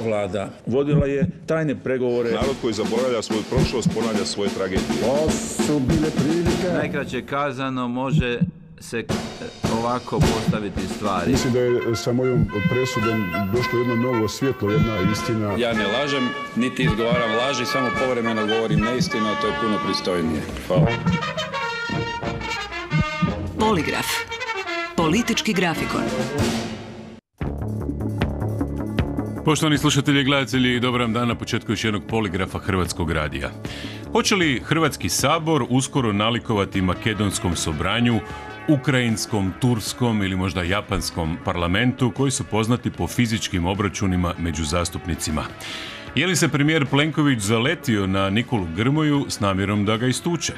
Vlada vodila je tajne pregovore. Narod koji zaboravlja svoju prošlost ponavlja svoje tragedije. To su bile prilike. Najkraće kazano može se ovako postaviti stvari. Mislim da je sa mojom presudom došlo jedno novo svjetlo, jedna istina. Ja ne lažem, niti izgovaram laži, samo povremeno govorim neistinu, a to je puno pristojnije. Hvala. Poligraf. Politički grafikon. Poštovani slušatelji i gledatelji, dobar vam dan na početku još jednog poligrafa Hrvatskog radija. Hoće li Hrvatski sabor uskoro nalikovati makedonskom sobranju, ukrajinskom, turskom ili možda japanskom parlamentu koji su poznati po fizičkim obračunima među zastupnicima? Je li se premijer Plenković zaletio na Nikolu Grmoju s namjerom da ga istuče?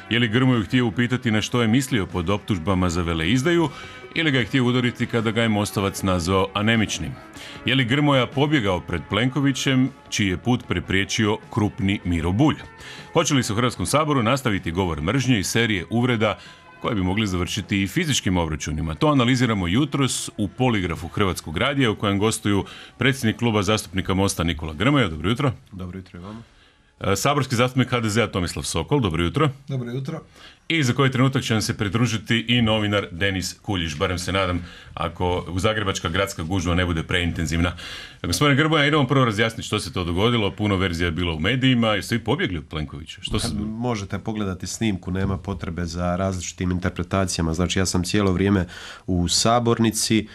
Je li Grmoju htio upitati na što je mislio pod optužbama za veleizdaju ili ga je htio udariti kada ga je Mostovac nazvao anemičnim? Je li Grmoja pobjegao pred Plenkovićem čiji je put prepriječio krupni Miro Bulj? Hoće li se u Hrvatskom saboru nastaviti govor mržnje i serije uvreda koje bi mogli završiti i fizičkim obračunima? To analiziramo jutros u poligrafu Hrvatskog radija u kojem gostuju predsjednik kluba zastupnika Mosta Nikola Grmoja. Dobro jutro. Dobro jutro i vama. Saborski zastupnik HDZ-a Tomislav Sokol. Dobro jutro. Dobro jutro. I za koji trenutak će nam se pridružiti i novinar Denis Kuljiš, barem se nadam, ako zagrebačka gradska gužva ne bude preintenzivna. Gospodine Grmoja, idemo prvo razjasniti što se to dogodilo. Puno verzija je bilo u medijima. Jeste vi pobjegli od Plenkovića? Možete pogledati snimku, nema potrebe za različitim interpretacijama. Znači, ja sam cijelo vrijeme u sabornici.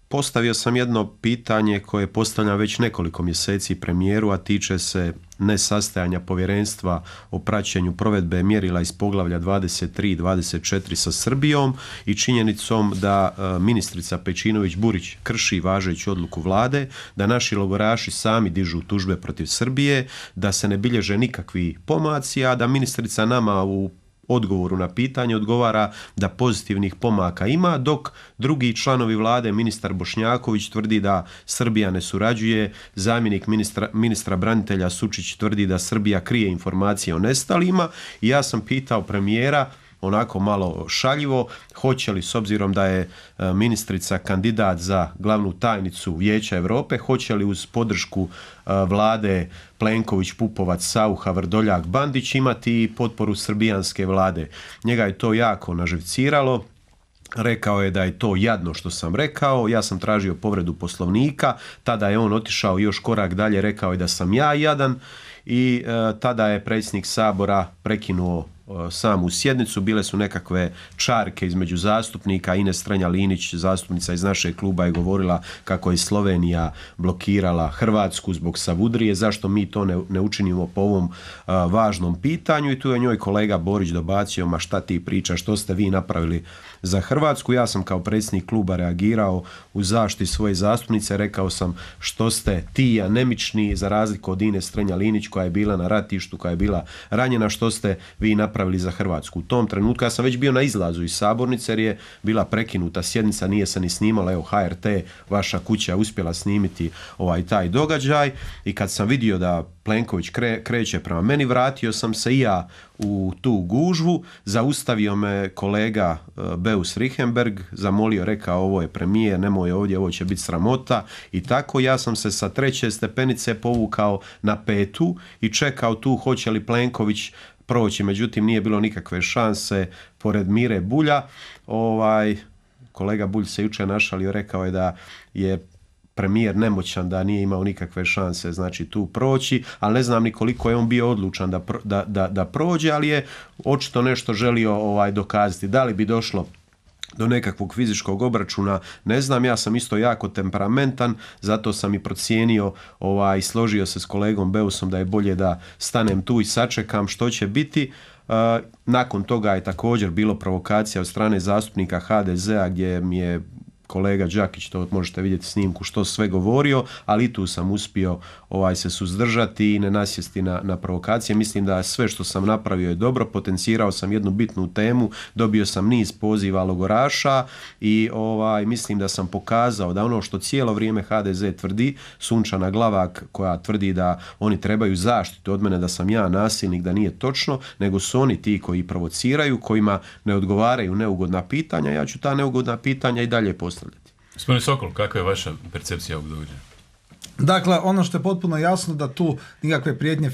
Postavio sam jedno pitanje koje postavljam već nekoliko mjeseci premijeru, a tiče se nesastajanja povjerenstva o praćenju provedbe mjerila iz poglavlja 23 i 24 sa Srbijom i činjenicom da ministrica Pejčinović-Burić krši važeću odluku vlade, da naši logoraši sami dižu tužbe protiv Srbije, da se ne bilježe nikakvi pomaci, a da ministrica nama u odgovoru na pitanje odgovara da pozitivnih pomaka ima, dok drugi članovi vlade, ministar Bošnjaković, tvrdi da Srbija ne surađuje, zamjenik ministra branitelja Sučić tvrdi da Srbija krije informacije o nestalima. I ja sam pitao premijera, onako malo šaljivo, hoće li, s obzirom da je ministrica kandidat za glavnu tajnicu Vijeća Europe, hoće li uz podršku vlade Plenković, Pupovac, Saucha, Vrdoljak, Bandić imati potporu srbijanske vlade. Njega je to jako naživciralo. Rekao je da je to jadno što sam rekao, ja sam tražio povredu Poslovnika, tada je on otišao još korak dalje, rekao je da sam ja jadan i tada je predsjednik Sabora prekinuo samu sjednicu. Bile su nekakve čarke između zastupnika. Ines Strenja-Linić, zastupnica iz našeg kluba, je govorila kako je Slovenija blokirala Hrvatsku zbog Savudrije, zašto mi to ne učinimo po ovom važnom pitanju, i tu je njoj kolega Borić dobacio, ma šta ti pričaš, što ste vi napravili za Hrvatsku. Ja sam kao predsjednik kluba reagirao u zaštiti svoje zastupnice, rekao sam što ste ti anemični, za razliku od Ines Strenja-Linić koja je bila na ratištu, koja je bila ranjena, što ste vi napravili za Hrvatsku. U tom trenutku ja sam već bio na izlazu iz sabornice jer je bila prekinuta sjednica, nije se ni snimala, evo HRT, vaša kuća, uspjela snimiti taj događaj, i kad sam vidio da Plenković kreće prema meni, vratio sam se i ja u tu gužvu, zaustavio me kolega Beus Richembergh, zamolio, rekao ovo je premijer, nemoj ovdje, ovo će biti sramota, i tako ja sam se sa 3. stepenice povukao na 5. i čekao tu hoće li Plenković proći, međutim nije bilo nikakve šanse pored Mire Bulja. Kolega Bulj se jučer našalio, rekao je da je premijer nemoćan, da nije imao nikakve šanse znači tu proći, ali ne znam ni koliko je on bio odlučan da prođe, ali je očito nešto želio dokazati. Da li bi došlo do nekakvog fizičkog obračuna, ne znam. Ja sam isto jako temperamentan, zato sam i procijenio i složio se s kolegom Beusom da je bolje da stanem tu i sačekam što će biti. Nakon toga je također bilo provokacija od strane zastupnika HDZ-a gdje mi je kolega Đakić, to možete vidjeti snimku, što sve govorio, ali i tu sam uspio se suzdržati i ne nasjesti na provokacije. Mislim da sve što sam napravio je dobro, potencirao sam jednu bitnu temu, dobio sam niz poziva logoraša i mislim da sam pokazao da ono što cijelo vrijeme HDZ tvrdi, Sunčana Glavak koja tvrdi da oni trebaju zaštitu od mene, da sam ja nasilnik, da nije točno, nego su oni ti koji provociraju, kojima ne odgovaraju neugodna pitanja. Ja ću ta neugodna pitanja i dalje postavljati. Gospodine Sokol, kakva je vaša percepcija ovog događaja? Dakle, ono što je potpuno jasno da tu nikakve prijetnje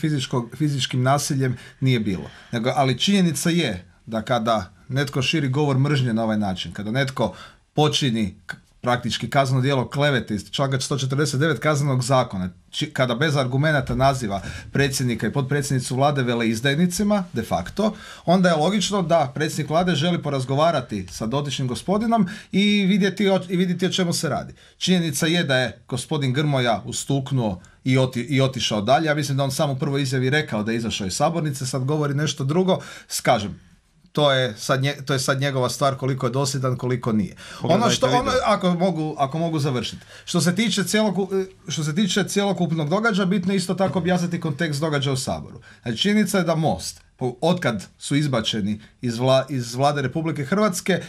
fizičkim nasiljem nije bilo. Ali činjenica je da kada netko širi govor mržnje na ovaj način, kada netko počini praktički kazneno djelo klevete iz članka 149 Kaznenog zakona, kada bez argumenata naziva predsjednika i potpredsjednicu vlade veleizdajnicima, de facto, onda je logično da predsjednik vlade želi porazgovarati sa dotičnim gospodinom i vidjeti o čemu se radi. Činjenica je da je gospodin Grmoja ustuknuo i otišao dalje. Ja mislim da on sam u prvoj izjavi rekao da je izašao iz sabornice, sad govori nešto drugo. Kažem, to je sad njegova stvar koliko je dosljedan, koliko nije. Ako mogu završiti. Što se tiče cjelokupnog događaja, bitno je isto tako objasniti kontekst događaja u Saboru. Znači, činjenica je da Most, otkad su izbačeni iz Vlade Republike Hrvatske,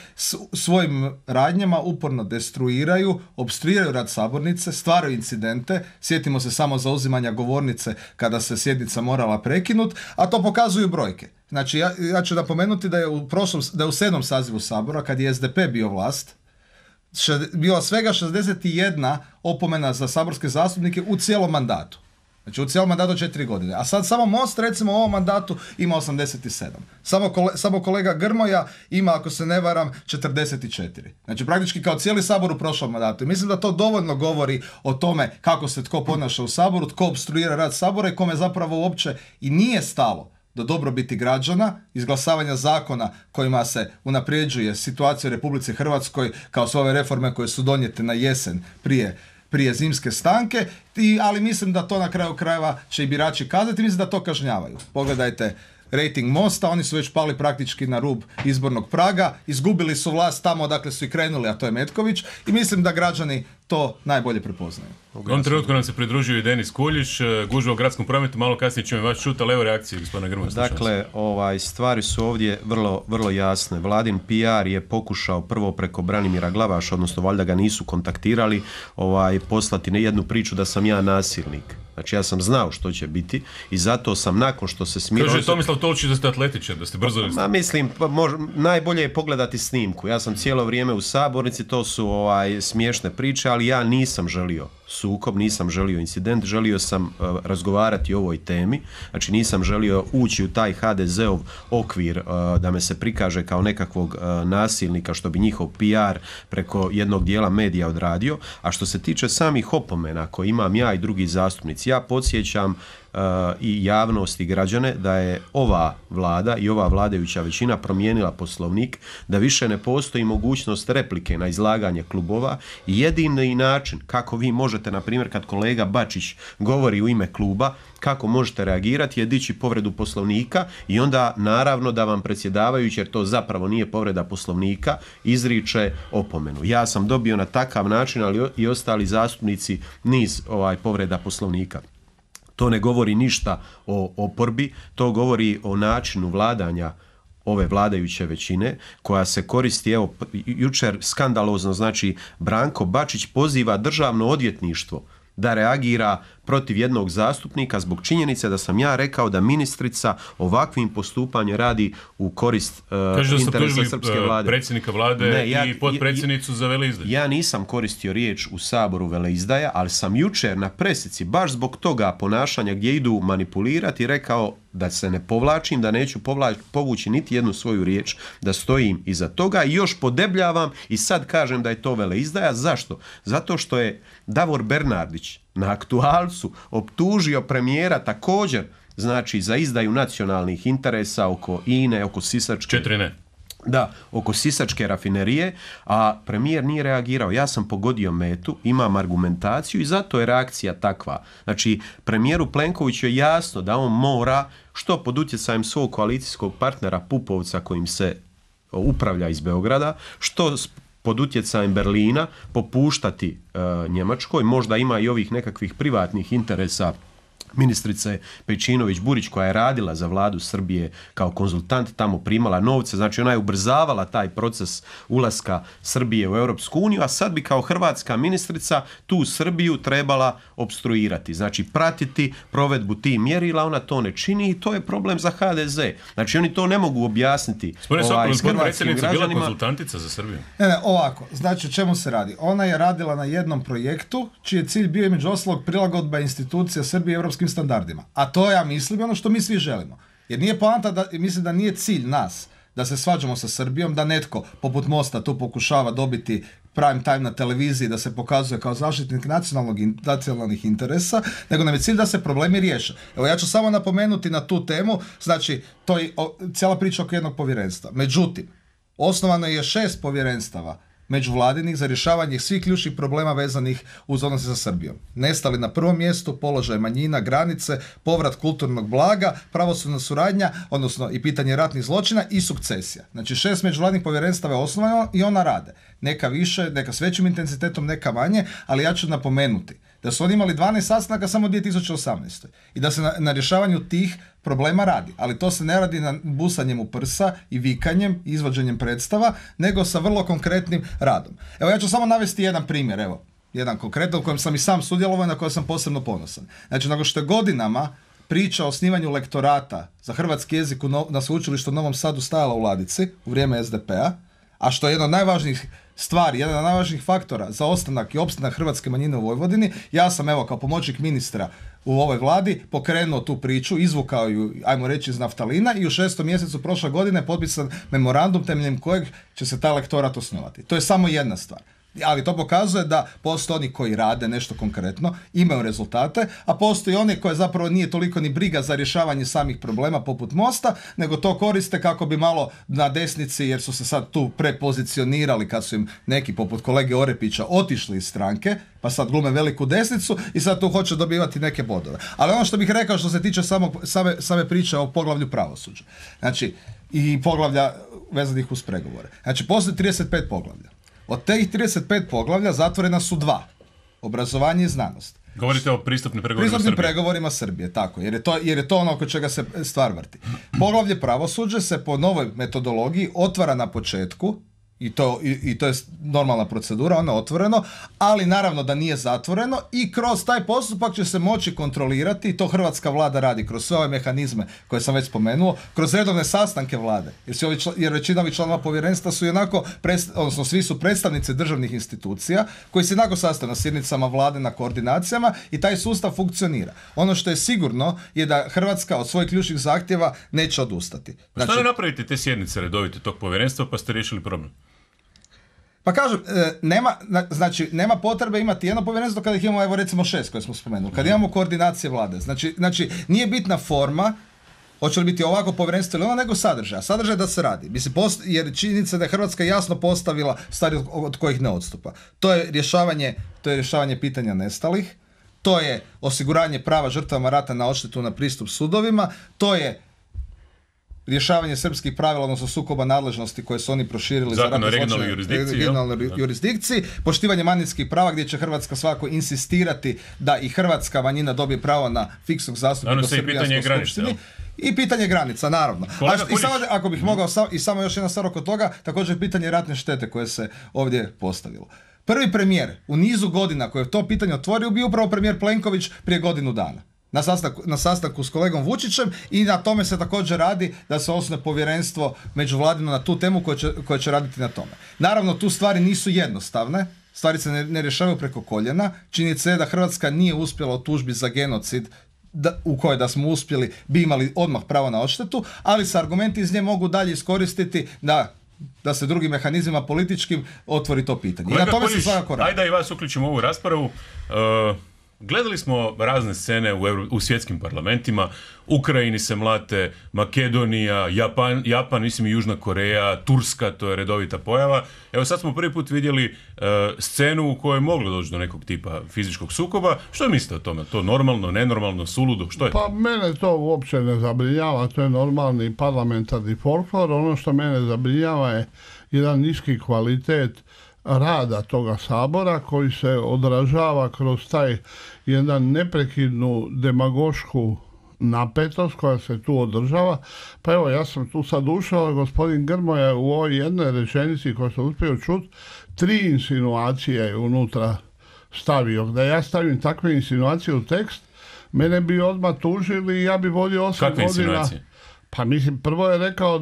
svojim radnjama uporno destruiraju, opstruiraju rad sabornice, stvaraju incidente. Sjetimo se samo zauzimanja govornice kada se sjednica morala prekinuti, a to pokazuju brojke. Znači, ja ću napomenuti da je u 7. sazivu Sabora, kad je SDP bio vlast, bila svega 61 opomena za saborske zastupnike u cijelom mandatu. Znači u cijelom mandatu 4 godine. A sad samo Most, recimo u ovom mandatu, ima 87. Samo kolega Grmoja ima, ako se ne varam, 44. Znači praktički kao cijeli Sabor u prošlom mandatu. I mislim da to dovoljno govori o tome kako se tko ponaša u Saboru, tko opstruira rad Sabora i kome zapravo uopće i nije stalo do dobrobiti građana, izglasavanja zakona kojima se unapređuje situacija u Republici Hrvatskoj, kao sve ove reforme koje su donijete na jesen prije zimske stanke, ali mislim da to na kraju krajeva će i birači kazati, mislim da to kažnjavaju. Pogledajte rejting Mosta, oni su već pali praktički na rub izbornog praga, izgubili su vlast tamo odakle su i krenuli, a to je Metković, i mislim da građani to najbolje prepoznaju. U ovom trenutku nam se pridružio i Denis Kuljić, gužva u gradskom prometu, malo kasnije ćemo vas čuti, ali evo reakcije gospodina Grmoje. Dakle, stvari su ovdje vrlo, vrlo jasne. Vladin PR je pokušao prvo preko Branimira Glavaša, odnosno valjda ga nisu kontaktirali, poslati jednu priču da sam ja nasilnik. Znači ja sam znao što će biti i zato sam nakon što se smirao... Kaže Tomislav Tolčić da ste atletičar, da ste brzo... Mislim, najbolje je pogledati snimku. Ja sam cijelo vrijeme u sabornici, to su smiješne priče, ali ja nisam želio sukob, nisam želio incident, želio sam razgovarati o ovoj temi, znači nisam želio ući u taj HDZ-ov okvir da me se prikaže kao nekakvog nasilnika što bi njihov PR preko jednog dijela medija odradio. A što se tiče samih opomena koje imam ja i drugi zastupnici, ja podsjećam i javnost i građane da je ova vlada i ova vladajuća većina promijenila poslovnik, da više ne postoji mogućnost replike na izlaganje klubova i jedini način kako vi možete, na primjer kad kolega Bačić govori u ime kluba, kako možete reagirati je dići povredu poslovnika i onda naravno da vam predsjedavajući, jer to zapravo nije povreda poslovnika, izriče opomenu. Ja sam dobio na takav način, ali i ostali zastupnici niz povreda poslovnika. To ne govori ništa o oporbi, to govori o načinu vladanja ove vladajuće većine koja se koristi, evo jučer skandalozno, znači Branko Bačić poziva državno odvjetništvo da reagira protiv jednog zastupnika zbog činjenice da sam ja rekao da ministrica ovakvim postupanjem radi u korist interesa srpske vlade. Predsjednika vlade i potpredsjednicu za veleizdaju. Ja nisam koristio riječ u Saboru veleizdaja, ali sam jučer na presici baš zbog toga ponašanja gdje idu manipulirati rekao da se ne povlačim, da neću povući niti jednu svoju riječ, da stojim iza toga i još podebljavam i sad kažem da je to veleizdaja. Zašto? Zato što je Davor Bernardić na Aktualcu optužio premijera također, znači za izdaju nacionalnih interesa oko INE, oko Sisačke... 4 ne. Da, oko Sisačke rafinerije, a premijer nije reagirao. Ja sam pogodio metu, imam argumentaciju i zato je reakcija takva. Znači, premijeru Plenkoviću je jasno da on mora, što pod utjecajem svog koalicijskog partnera Pupovca kojim se upravlja iz Beograda, što pod utjecajem Berlina popuštati Njemačkoj, možda ima i ovih nekakvih privatnih interesa ministrice Pejčinović-Burić koja je radila za vladu Srbije kao konzultant, tamo primala novce, znači ona je ubrzavala taj proces ulaska Srbije u Europsku uniju, a sad bi kao hrvatska ministrica tu Srbiju trebala opstruirati, znači pratiti provedbu tih mjerila, ona to ne čini i to je problem za HDZ. Znači oni to ne mogu objasniti s hrvatskim građanima. Bila konzultantica za Srbiju? Ne, ovako, znači o čemu se radi? Ona je radila na jednom projektu čiji je cilj bio između ostalog prilagodba institucija Srbije europskim standardima. A to ja mislim ono što mi svi želimo. Jer nije poanta mislim da nije cilj nas da se svađamo sa Srbijom, da netko poput Mosta tu pokušava dobiti prime time na televiziji, da se pokazuje kao zaštitnik nacionalnih interesa, nego nam je cilj da se problemi riješe. Evo ja ću samo napomenuti na tu temu, znači to je cijela priča oko jednog povjerenstva. Međutim, osnovano je 6 povjerenstava međuvladinih za rješavanje svih ključnih problema vezanih uz odnose sa Srbijom. Nestali na prvom mjestu, položaj manjina, granice, povrat kulturnog blaga, pravosudna suradnja, odnosno i pitanje ratnih zločina i sukcesija. Znači 6 međuvladinih povjerenstava je osnovano i ona rade. Neka više, neka s većim intenzitetom, neka manje, ali ja ću napomenuti da su oni imali 12 sastanaka samo u 2018. I da se na rješavanju tih problema radi. Ali to se ne radi na busanjem u prsa i vikanjem, izvođenjem predstava, nego sa vrlo konkretnim radom. Evo ja ću samo navesti jedan primjer, evo, jedan konkretan u kojem sam i sam sudjelovao i na kojem sam posebno ponosan. Znači, nakon što je godinama priča o osnivanju lektorata za hrvatski jezik na sveučilištu u Novom Sadu stajala u ladici u vrijeme SDP-a, a što je jedna od najvažnijih stvari, jedan od najvažnijih faktora za ostanak i opstanak hrvatske manjine u Vojvodini, ja sam evo kao pomoćnik ministra u ovoj vladi pokrenuo tu priču, izvukao ju, ajmo reći, iz naftalina i u 6. mjesecu prošle godine potpisan memorandum temeljem kojeg će se taj lektorat osnovati. To je samo jedna stvar. Ali to pokazuje da postoje oni koji rade nešto konkretno, imaju rezultate, a postoji oni koji zapravo nije toliko ni briga za rješavanje samih problema poput Mosta, nego to koriste kako bi malo na desnici, jer su se sad tu prepozicionirali kad su im neki poput kolege Orepića otišli iz stranke, pa sad glume veliku desnicu i sad tu hoće dobivati neke bodove. Ali ono što bih rekao što se tiče same priče o poglavlju pravosuđa, znači i poglavlja vezanih uz pregovore. Znači postoji 35 poglavlja. Od tih 35 poglavlja zatvorena su 2. Obrazovanje i znanost. Govorite o pristupnim pregovorima Srbije. Pristupnim pregovorima Srbije, tako. Jer je to ono oko čega se stvar vrti. Poglavlje pravosuđe se po novoj metodologiji otvara na početku, i to je normalna procedura, ono je otvoreno, ali naravno da nije zatvoreno i kroz taj postupak će se moći kontrolirati, i to hrvatska vlada radi kroz sve ove mehanizme koje sam već spomenuo, kroz redovne sastanke vlade, jer većina ovih članova povjerenstva su onako, odnosno svi su predstavnici državnih institucija koji se onako sastaju na sjednicama vlade, na koordinacijama i taj sustav funkcionira. Ono što je sigurno je da Hrvatska od svojih ključnih zahtjeva neće odustati. Znači, što ne napravite te sjednice redovite tog povjerenstva pa ste riješili problem? Pa kažem, nema potrebe imati jedno povjerenstvo kada ih imamo, evo recimo 6 koje smo spomenuli, kada imamo koordinacije vlade. Znači nije bitna forma, hoće li biti ovako povjerenstvo ili ono, nego sadržaj. Sadržaj da se radi. Mislim, jer činjenica da je Hrvatska jasno postavila stvari od kojih ne odstupa. To je rješavanje pitanja nestalih, to je osiguranje prava žrtvama rata na odštetu na pristup sudovima, to je rješavanje srpskih pravila, odnosno sukoba nadležnosti koje su oni proširili za ratne zločine regionalnoj jurisdikciji, poštivanje manjinskih prava gdje će Hrvatska svakako insistirati da i hrvatska manjina dobije pravo na fiksnog zastupnika u Srbijanskoj skupštini. I pitanje granica, naravno. I samo, ako bih mogao, i samo još jedna stvar oko toga, također pitanje ratne štete koje se ovdje postavilo. Prvi premijer u nizu godina koji je to pitanje otvorio bio upravo premijer Plenković prije godinu dana. Na sastanku s kolegom Vučićem i na tome se također radi da se osnuje povjerenstvo međuvladino na tu temu koje će raditi na tome. Naravno, tu stvari nisu jednostavne, stvari se ne rješavaju preko koljena. Činjenica je da Hrvatska nije uspjela u tužbi za genocid u kojoj da smo uspjeli bi imali odmah pravo na odštetu, ali se argumenti iz nje mogu dalje iskoristiti da se drugim mehanizmima političkim otvori to pitanje. Kolega I na tome Puljić, se svakako radi. Ajde da i vas uključimo u ovu raspravu. Gledali smo razne scene u svjetskim parlamentima, Ukrajini se mlate, Makedonija, Japan, mislim i Južna Koreja, Turska, to je redovita pojava. Evo sad smo prvi put vidjeli scenu u kojoj je moglo doći do nekog tipa fizičkog sukoba. Što mislite o tome? To normalno, nenormalno, suludo? Što je to? Pa mene to uopće ne zabrinjava, to je normalni parlamentarni folklor. Ono što mene zabrinjava je jedan niski kvalitet rada toga Sabora koji se odražava kroz taj jedan neprekidnu demagošku napetost koja se tu održava. Pa evo, ja sam tu sad ušao, gospodin Grmoja u ovoj jednoj rečenici koju sam uspio čuti, 3 insinuacije je unutra stavio. Da ja stavim takve insinuacije u tekst, mene bi odmah tužili i ja bi vodio 8 Kakve godina. insinuacije? Pa mislim, prvo je rekao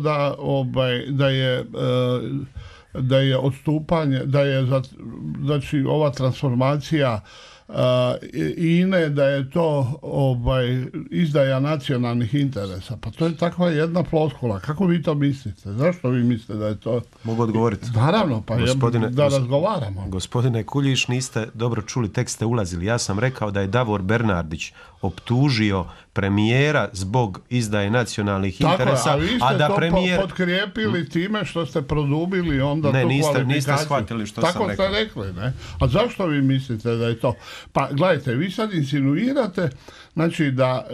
da je odstupanje, znači ova transformacija INA-e, da je to izdaja nacionalnih interesa. Pa to je takva jedna floskula. Kako vi to mislite? Zašto vi mislite da je to? Mogu odgovoriti? Naravno, pa da razgovaramo. Gospodine Kuljiš, niste dobro čuli, tek ste ulazili. Ja sam rekao da je Davor Bernardić optužio premijera zbog izdaje nacionalnih interesa, a vi ste a da to premijer... potkrijepili time što ste produbili onda ne, tu kvalifikaciju. niste shvatili što tako sam rekao. Tako ste rekli, ne? A zašto vi mislite da je to? Pa gledajte, vi sad insinuirate, znači da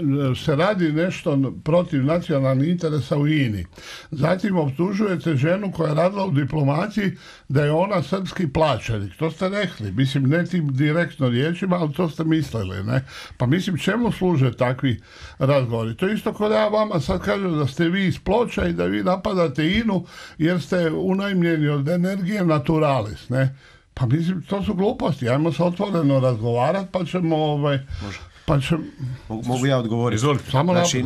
se radi nešto protiv nacionalnih interesa u INI. Zatim optužujete ženu koja je radila u diplomaciji da je ona srpski plaćenik. To ste rekli, mislim, ne tim direktno riječima, ali to ste mislili, ne? Pa mislim, čemu služe takvi razgovori? To je isto kao da ja vama sad kažem da ste vi iz Ploča i da vi napadate INU jer ste unajmljeni od Energije Naturalis, ne? Pa mislim, to su gluposti. Ajmo se otvoreno razgovarati, pa ćemo... Mogu ja odgovoriti? Znači,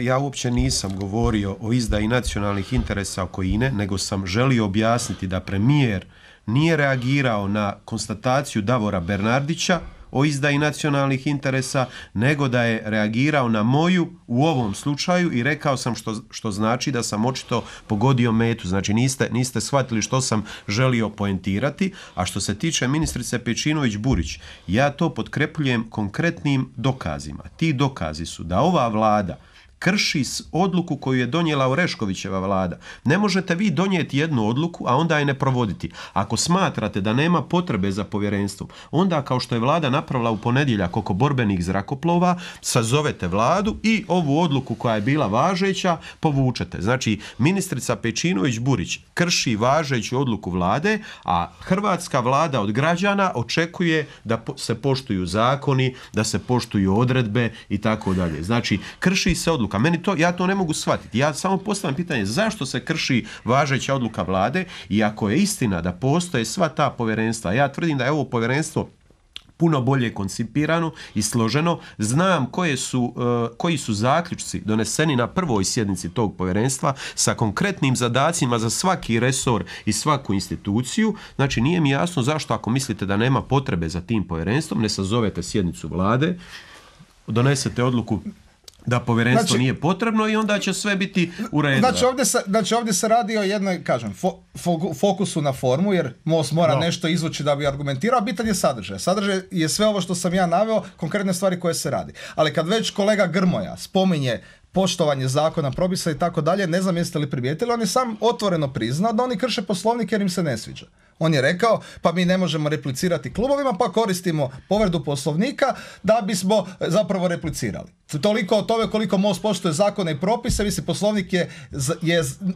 ja uopće nisam govorio o izdaji nacionalnih interesa oko INE, nego sam želio objasniti da premijer nije reagirao na konstataciju Davora Bernardića o izdaji nacionalnih interesa, nego da je reagirao na moju u ovom slučaju i rekao sam što znači da sam očito pogodio metu. Znači niste shvatili što sam želio poentirati. A što se tiče ministrice Pejčinović-Burić, ja to potkrepljujem konkretnim dokazima. Ti dokazi su da ova vlada krši odluku koju je donijela Oreškovićeva vlada. Ne možete vi donijeti jednu odluku, a onda je ne provoditi. Ako smatrate da nema potrebe za povjerenstvom, onda kao što je vlada napravila u ponedjeljak oko borbenih zrakoplova, sazovete vladu i ovu odluku koja je bila važeća povučete. Znači, ministrica Pejčinović-Burić krši važeću odluku vlade, a hrvatska vlada od građana očekuje da se poštuju zakoni, da se poštuju odredbe i tako dalje. Znači, krši se odluka. Ja to ne mogu shvatiti. Ja samo postavljam pitanje zašto se krši važeća odluka vlade i ako je istina da postoje sva ta povjerenstva, ja tvrdim da je ovo povjerenstvo puno bolje koncipirano i složeno. Znam koji su zaključci doneseni na prvoj sjednici tog povjerenstva sa konkretnim zadacima za svaki resor i svaku instituciju. Znači nije mi jasno zašto ako mislite da nema potrebe za tim povjerenstvom, ne sazovete sjednicu vlade, donesete odluku da povjerenstvo nije potrebno i onda će sve biti u redu. Znači ovdje se radi o jednoj, kažem, fokusu na formu, jer MOST mora nešto izvući da bi argumentirao, a bitan je sadržaj. Sadržaj je sve ovo što sam ja naveo, konkretne stvari koje se radi. Ali kad već kolega Grmoja spominje poštovanje zakona, propisa i tako dalje, ne znam jeste li primijetili, on je sam otvoreno priznao da oni krše Poslovnik jer im se ne sviđa. On je rekao, pa mi ne možemo replicirati klubovima, pa koristimo povredu Poslovnika da bismo zapravo replicirali. Toliko o tome koliko MOST poštuje zakone i propise, mislim, Poslovnik je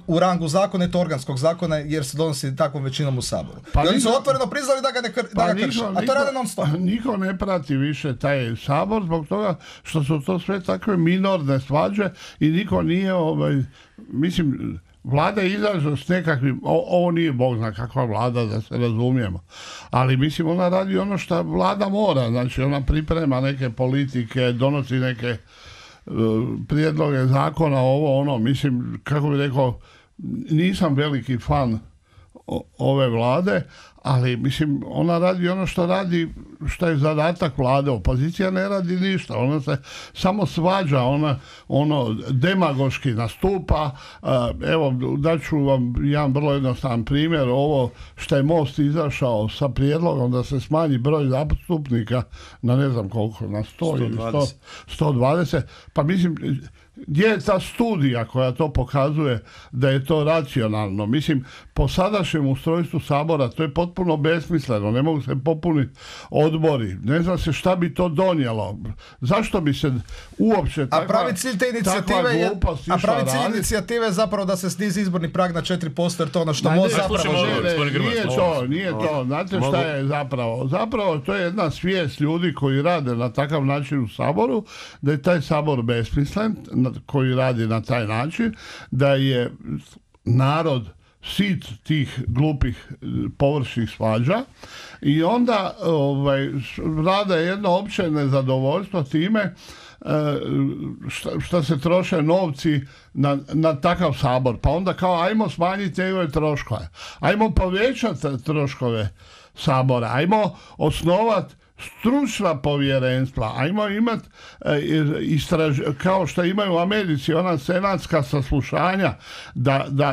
u rangu zakona, je to organskog zakona jer se donosi takvom većinom u Saboru. I oni su otvoreno priznali da ga krše, a to rade non stop. Niko ne prati više taj Sabor zbog toga što su to sve takve minorne svađe i niko nije, mislim, vlada izađe s nekakvim, ovo nije Bog zna kakva vlada, da se razumijemo, ali mislim ona radi ono što vlada mora, znači ona priprema neke politike, donosi neke prijedloge zakona, ovo ono, mislim, kako bih rekao, nisam veliki fan ove vlade, ali mislim ona radi ono što radi, što je zadatak vlade. Opozicija ne radi ništa, ona se samo svađa, ona demagoški nastupa. Evo, daću vam jedan vrlo jednostavan primjer, ovo što je MOST izašao sa prijedlogom da se smanji broj zastupnika na ne znam koliko, na 100 ili 120, pa mislim, gdje je ta studija koja to pokazuje da je to racionalno? Mislim, po sadašnjem ustrojstvu Sabora to je potpuno potpuno besmisleno, ne mogu se popuniti odbori, ne zna se šta bi to donijelo, zašto bi se uopće takva glupost išla raditi. Inicijative je zapravo da se snizi izborni prag na 4%, jer to ono što MOST zapravo želi. Nije to. Znate šta je zapravo? Zapravo to je jedna svijest ljudi koji rade na takav način u Saboru, da je taj Sabor besmislen, koji radi na taj način, da je narod sit tih glupih površnih svađa i onda vlada jedno opće nezadovoljstvo time što se troše novci na takav Sabor. Pa onda kao ajmo smanjiti njegove troškove, ajmo povećati troškove Sabora, ajmo osnovati stručna povjerenstva, ajmo imati kao što imaju u Americi ona senatska saslušanja,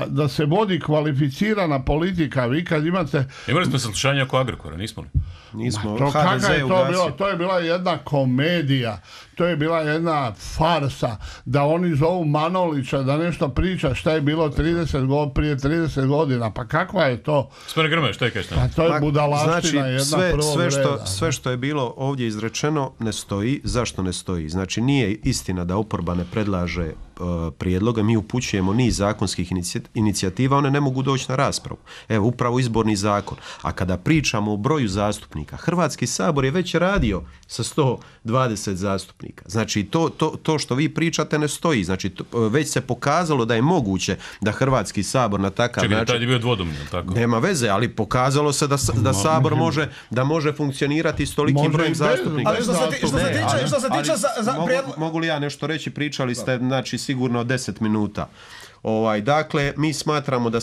da se vodi kvalificirana politika. Vi kad imate... Imali smo saslušanja oko Agrokora, nismo li? Nismo. To je bila jedna komedija, to je bila jedna farsa, da oni zovu Manolića da nešto priča šta je bilo prije 30 godina. Pa kakva je to? Gospodine Grmoja, šta je kažete? Pa to je budalaština jedna prvog reda. Sve što je bilo ovdje izrečeno ne stoji. Zašto ne stoji? Znači nije istina da oporba ne predlaže prijedloga, mi upućujemo niz zakonskih inicijativa, one ne mogu doći na raspravu. Evo, upravo izborni zakon. A kada pričamo o broju zastupnika, Hrvatski sabor je već radio sa 120 zastupnika. Znači, to što vi pričate ne stoji. Znači, već se pokazalo da je moguće da Hrvatski sabor na takav način... Čekaj, tad je bio dvodomni, tako? Nema veze, ali pokazalo se da sabor može funkcionirati s tolikim brojem zastupnika. Ali što se tiče... Mogu li ja nešto reći? Pričali ste, znači, sigurno 10 minuta. Dakle, mi smatramo da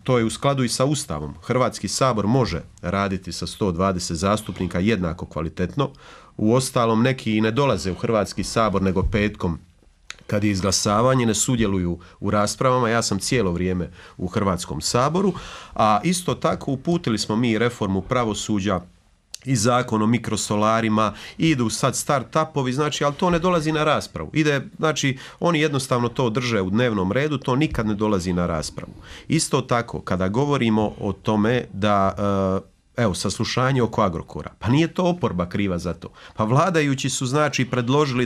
to je u skladu i sa Ustavom. Hrvatski sabor može raditi sa 120 zastupnika jednako kvalitetno. Uostalom, neki i ne dolaze u Hrvatski sabor nego petkom kad je izglasavanje, ne sudjeluju u raspravama. Ja sam cijelo vrijeme u Hrvatskom saboru, a isto tako uputili smo mi reformu pravosuđa i zakon o mikrosolarima, idu sad start-upovi, znači, ali to ne dolazi na raspravu. Znači, oni jednostavno to drže u dnevnom redu, to nikad ne dolazi na raspravu. Isto tako, kada govorimo o tome da, evo, saslušanje oko Agrokora, pa nije to oporba kriva za to. Pa vladajući su, znači, predložili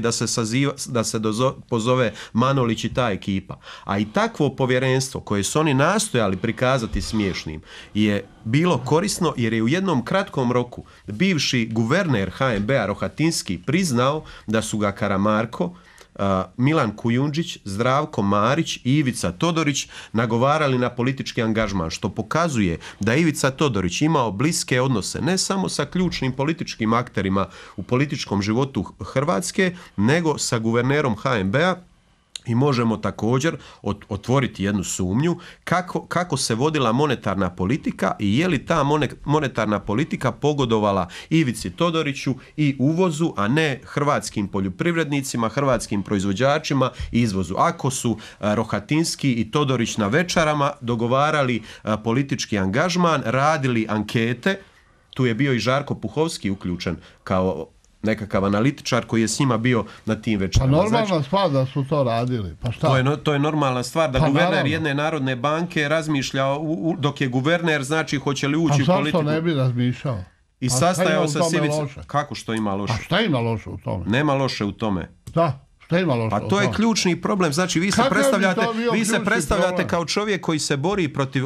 da se pozove Manolić i ta ekipa. A i takvo povjerenstvo koje su oni nastojali prikazati smiješnim je bilo korisno jer je u jednom kratkom roku bivši guverner HNB-a Rohatinski priznao da su ga Karamarko, Milan Kujundžić, Zdravko Marić i Ivica Todorić nagovarali na politički angažman, što pokazuje da Ivica Todorić imao bliske odnose ne samo sa ključnim političkim akterima u političkom životu Hrvatske, nego sa guvernerom HNB-a. I možemo također otvoriti jednu sumnju kako se vodila monetarna politika i je li ta monetarna politika pogodovala Ivici Todoriću i uvozu, a ne hrvatskim poljoprivrednicima, hrvatskim proizvođačima i izvozu. Ako su Rohatinski i Todorić na večerama dogovarali politički angažman, radili ankete, tu je bio i Žarko Puhovski uključen kao nekakav analitičar koji je s njima bio na tim večerama. Pa normalna stvar da su to radili. Pa šta? To je normalna stvar da guverner jedne narodne banke razmišlja dok je guverner, znači hoće li ući u politiku. A zašto ne bi razmišljao? I sastajao sa Ivicom. Kako što ima loše? A šta ima loše u tome? Nema loše u tome. Da. Pa to je ključni problem. Znači vi se predstavljate kao čovjek koji se bori protiv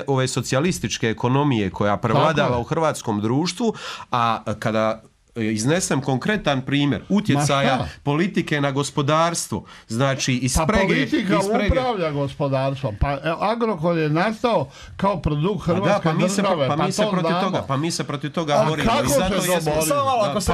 ove socijalističke ekonomije koja prevladava u hrvatskom društvu, a kada iznesem konkretan primjer utjecaja politike na gospodarstvo, znači iz sprege... politika upravlja gospodarstvom. Pa Agrokor je nastao kao produkt hrvatske države. Pa mi se protiv toga borimo. Kako se to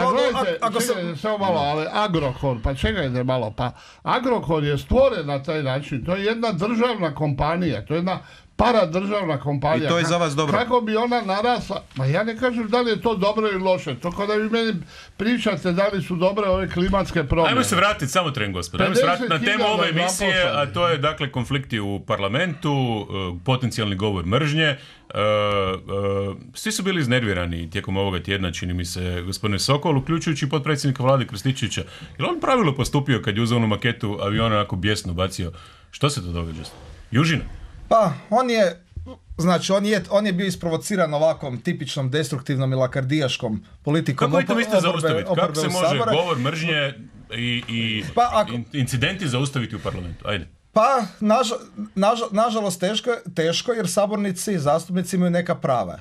bori? Samo malo, ali Agrokor, pa čekajte malo, pa Agrokor je stvoren na taj način. To je jedna državna kompanija, to je jedna paradržavna kompanija. I to je za vas dobro. Kako bi ona narasla? Ma ja ne kažem da li je to dobro ili loše. To kada vi meni pričate da li su dobre ove klimatske promjene. Ajmo se vratiti, samo tren gospod. Ajmo se vratiti na temu ove emisije, a to je dakle konflikti u parlamentu, potencijalni govor mržnje. Svi su bili iznervirani tijekom ovoga tjedna, čini mi se, gospodine Sokol, uključujući potpredsjednika vlade Krstičevića. Je li on pravilno postupio kad je uzeo onu maketu aviona onako bijesno bacio? Što se to događa? Južina? Pa, on je Znači, on je bio isprovociran ovakvom tipičnom destruktivnom i lakardijaškom politikom. Kako vi to mislite zaustaviti? Kako se može Sabora govor mržnje i incidenti zaustaviti u parlamentu? Ajde. Pa, nažalost teško jer sabornici i zastupnici imaju neka prava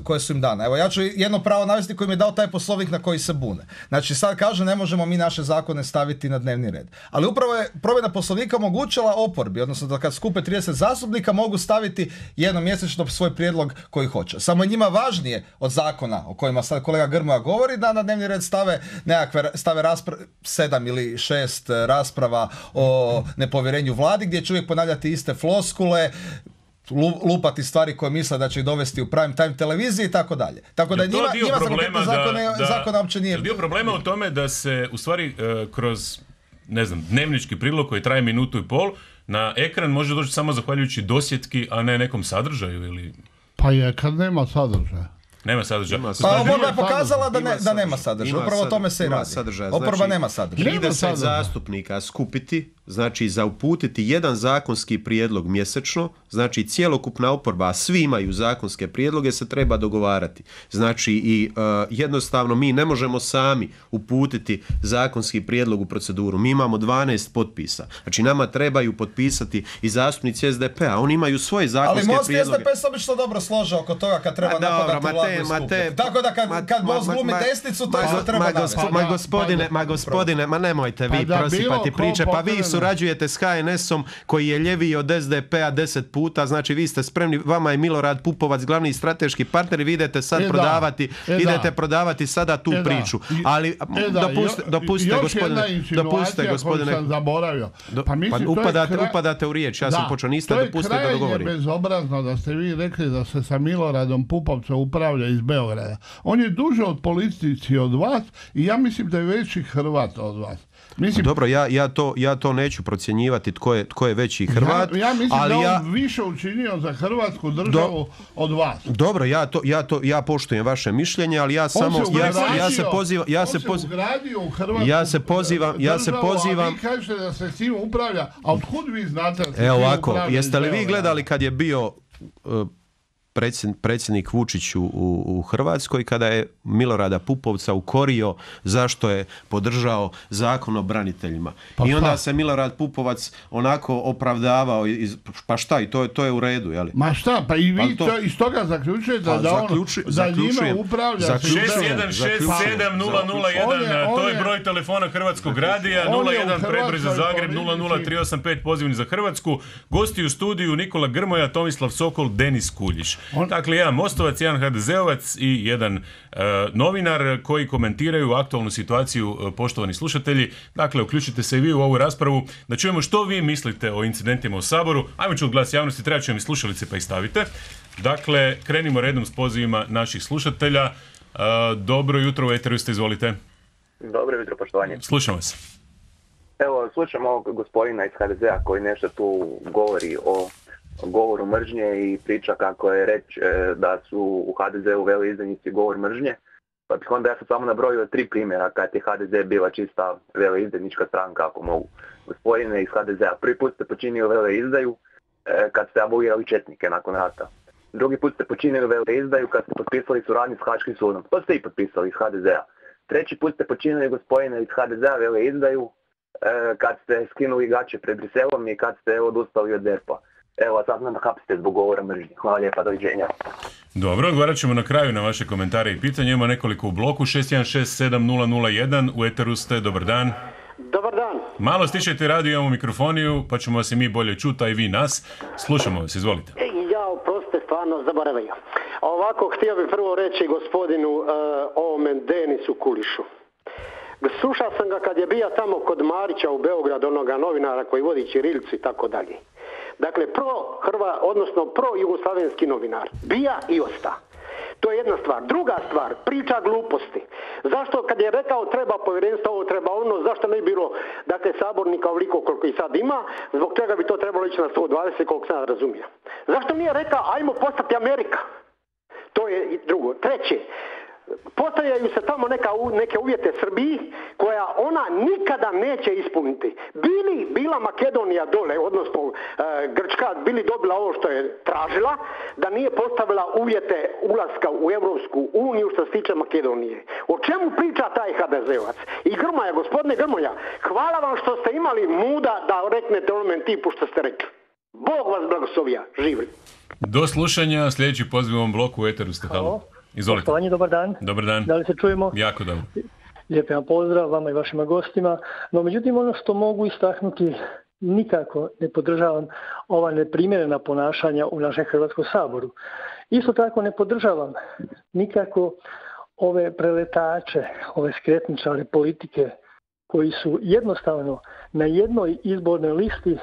koje su im dana. Evo, ja ću jedno pravo navesti koji mi je dao taj poslovnik na koji se bune. Znači, sad kaže ne možemo mi naše zakone staviti na dnevni red. Ali upravo je promjena poslovnika omogućila oporbi, odnosno da kad skupe 30 zastupnika mogu staviti jednom mjesečno svoj prijedlog koji hoće. Samo je njima važnije od zakona o kojima sad kolega Grmoja govori da na dnevni red stave 7 ili 6 rasprava o nepovjerenju vladi gdje će uvijek ponavljati iste floskule, lupati stvari koje misle da će ih dovesti u prime time televiziji i tako dalje. Tako da njima za konkretne zakona uopće nije... Dio problema u tome da se u stvari kroz, ne znam, dnevnički prilog koji traje minutu i pol, na ekran može doći samo zahvaljujući dosjetki, a ne nekom sadržaju ili... Pa je kad nema sadržaja. Nema sadržaja. Pa oporba je pokazala da nema sadržaja. Upravo o tome se i radi. Oporba nema sadržaja. 30 zastupnika skupiti, znači za uputiti jedan zakonski prijedlog mjesečno, znači cjelokupna oporba, a svi imaju zakonske prijedloge, se treba dogovarati. Znači i jednostavno mi ne možemo sami uputiti zakonski prijedlog u proceduru. Mi imamo 12 potpisa. Znači nama trebaju potpisati i zastupnici SDP-a. Oni imaju svoje zakonske prijedloge. Ali Most i SDP se obično dobro slože oko toga kad treba napadati vladu i skupiti. Tako da kad Most glumi desnicu, to isto treba navesti. Gospodine, ma nemojte vi prosipati priče, pa vi surađujete s HNS-om koji je ljeviji od SDP-a 10 puta, znači vi ste spremni, vama je Milorad Pupovac glavni strateški partner i vi idete sad prodavati sada tu priču. Ali dopustite gospodine, sam zaboravio. upadate u riječ, ja sam počeo, niste dopustili da dogovorim. To je krajnje bezobrazno da ste vi rekli da se sa Miloradom Pupovcem upravlja iz Beograda. On je duže od politici od vas i ja mislim da je veći Hrvat od vas. Mislim, dobro, ja to neću procjenjivati tko je veći Hrvat. Ja mislim ali da on više učinio za Hrvatsku državu od vas. Dobro, ja poštujem vaše mišljenje, ali ja samo ja se pozivam. Vi kažete da se s tim upravlja, a otkud vi znate da se tim upravlja? Jeste li vi gledali kad je bio predsjednik Vučić u Hrvatskoj kada je Milorada Pupovca ukorio zašto je podržao zakon o braniteljima. I onda se Milorad Pupovac onako opravdavao, pa šta, i to je u redu, jel? Ma šta, pa i vi iz toga zaključujete da njima upravlja 6167001, to je broj telefona Hrvatskog radija, 01 predbroj za Zagreb, 00385 pozivni za Hrvatsku. Gosti u studiju Nikola Grmoja, Tomislav Sokol, Denis Kuljiš. Dakle, jedan Mostovac, jedan HDZ-ovac i jedan novinar koji komentiraju aktualnu situaciju, poštovani slušatelji. Dakle, uključite se i vi u ovu raspravu da čujemo što vi mislite o incidentima u Saboru. Ajmo čuti glas javnosti, treba ću vam i slušalice pa ih stavite. Dakle, krenimo redom s pozivima naših slušatelja. Dobro jutro, u eteru ste, izvolite. Dobro jutro, poštovanje. Slušam vas. Evo, slušam ovog gospodina iz HDZ-a koji nešto tu govori o govoru mržnje i priča kako je reći da su u HDZ-u veleizdajnici govor mržnje. Pa bih onda ja sam samo nabrojio 3 primjera kad je HDZ bila čista veleizdajnička stranka, ako mogu. Gospodine iz HDZ-a, prvi put ste počinili veleizdaju kad ste abolirali četnike nakon rata. Drugi put ste počinili veleizdaju kad ste potpisali suradnju s Haškim sudom. To ste i potpisali iz HDZ-a. Treći put ste počinili, gospodine iz HDZ-a, veleizdaju kad ste skinuli gaće pred Briselom i kad ste odustali od DERP-a. Evo, sad nam hapsite zbog govora mržnje. Hvala lijepa, doviđenja. Dobro, odgovarat ćemo na kraju na vaše komentare i pitanje. Ima nekoliko u bloku. 6167001, u eteru ste, dobar dan. Dobar dan. Malo stišajte radio, imamo mikrofoniju, pa ćemo vas i mi bolje čuti, a i vi nas. Slušamo vas, izvolite. Ja, oprostite, stvarno zaboravio. Ovako, htio bih prvo reći gospodinu ovome Denisu Kulišu. Slušao sam ga kad je bio tamo kod Marića u Beogradu, onoga novinara koji vodi ćirilicu i tako dalje. Dakle, pro-jugoslavenski novinar. Bija i osta. To je jedna stvar. Druga stvar, priča gluposti. Zašto kad je rekao treba povjerenstvo, ovo treba ono, zašto ne bi bilo, dakle, sabornika ovoliko koliko i sad ima, zbog čega bi to trebalo ići na 120 koliko sam razumio. Zašto nije rekao ajmo postati Amerika? To je drugo. Treće, postavljaju se tamo neke uvjete Srbiji koja ona nikada neće ispuniti. Bila Makedonija dole, odnosno Grčka, bili dobila ovo što je tražila, da nije postavila uvjete ulaska u Europsku uniju što se tiče Makedonije. O čemu priča taj HDZ-ovac? I Grmoja, gospodine Grmoja, hvala vam što ste imali muda da reknete onome tipu što ste rekli. Bog vas blagoslovija, živjeli. Do slušanja, sljedeći poziv u ovom bloku u eteru ste. Halo. Izvolite. Poštovanje, dobar dan. Dobar dan. Da li se čujemo? Jako dobro. Lijepi vam pozdrav vama i vašima gostima. No, međutim, ono što mogu istaknuti, nikako ne podržavam ova neprimjerena ponašanja u našem Hrvatskom saboru. Isto tako ne podržavam nikako ove preletače, ove skretničare politike koji su jednostavno na jednoj izbornoj listi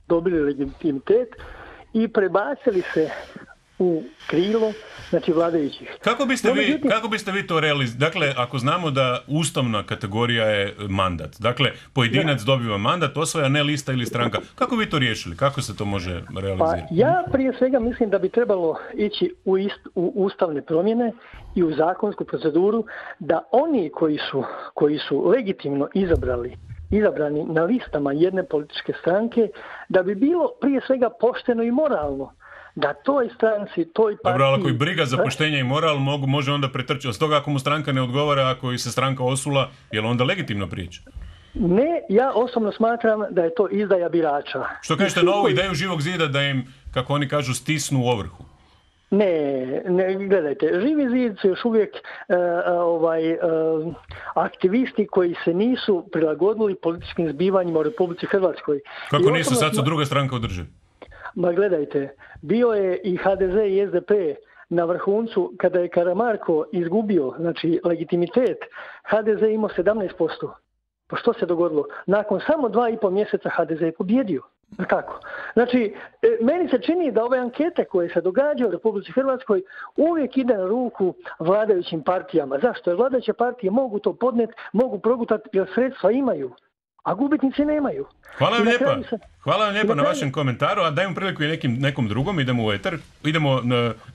dobili legitimitet i prebacili se u krilo, znači vladajućih. Kako biste vi to realizirali? Dakle, ako znamo da ustavna kategorija je mandat, dakle, pojedinac dobiva mandat, osvaja ne lista ili stranka. Kako bi to riješili? Kako se to može realizirati? Pa ja prije svega mislim da bi trebalo ići u ustavne promjene i u zakonsku proceduru da oni koji su legitimno izabrani na listama jedne političke stranke, da bi bilo prije svega pošteno i moralno da toj stranci, toj partiji... Dobro, ali ako i briga za poštenje i moral može onda pretrčati. Od toga ako mu stranka ne odgovara, ako se stranka osula, je li onda legitimno priča? Ne, ja osobno smatram da je to izdaja birača. Što kažete na ovu ideju Živog zida da im, kako oni kažu, stisnu u ovrhu? Ne, gledajte, Živi zid su još uvijek aktivisti koji se nisu prilagodili političkim zbivanjima u Republici Hrvatskoj. Kako nisu, sad su druga stranka u državi? Ma gledajte, bio je i HDZ i SDP na vrhuncu kada je Karamarko izgubio, znači legitimitet, HDZ imao 17%. Pa što se dogodilo? Nakon samo 2,5 mjeseca HDZ je pobjedio. Kako? Znači, meni se čini da ove ankete koje se događaju u Republici Hrvatskoj uvijek ide na ruku vladajućim partijama. Zašto? Jer vladajuće partije mogu to podneti, mogu progutati jer sredstva imaju, a gubitnici nemaju. Hvala vam lijepa na vašem komentaru, a dajem priliku i nekom drugom, idemo u eter, idemo